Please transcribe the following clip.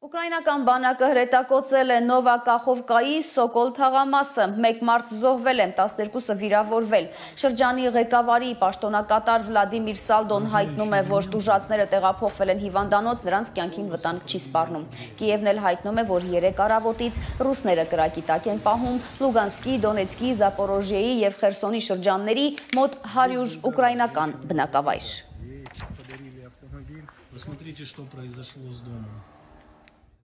Ուկրաինական բանակը հրետակոծել է Նովա-Կախովկայի Սոկոլ թաղամասը, 1 մարդ զոհվել է, 12-ը վիրավորվել։ Շրջանի ղեկավարի պաշտոնակատար Վլադիմիր Սալդոն հայտնում է, որ տուժածները տեղափոխվել են հիվանդանոց, նրանց կյանքին վտանգ չի սպառնում։ Կիևն էլ հայտնում է, որ 3 առավոտից ռուսները կրակի տակ են պահում Լուգանսկի, Դոնեցկի, Զապորոժիեի և Խերսոնի շրջանների մոտ 100 ուկրաինական բնակավայր։ Посмотрите, что произошло с домом.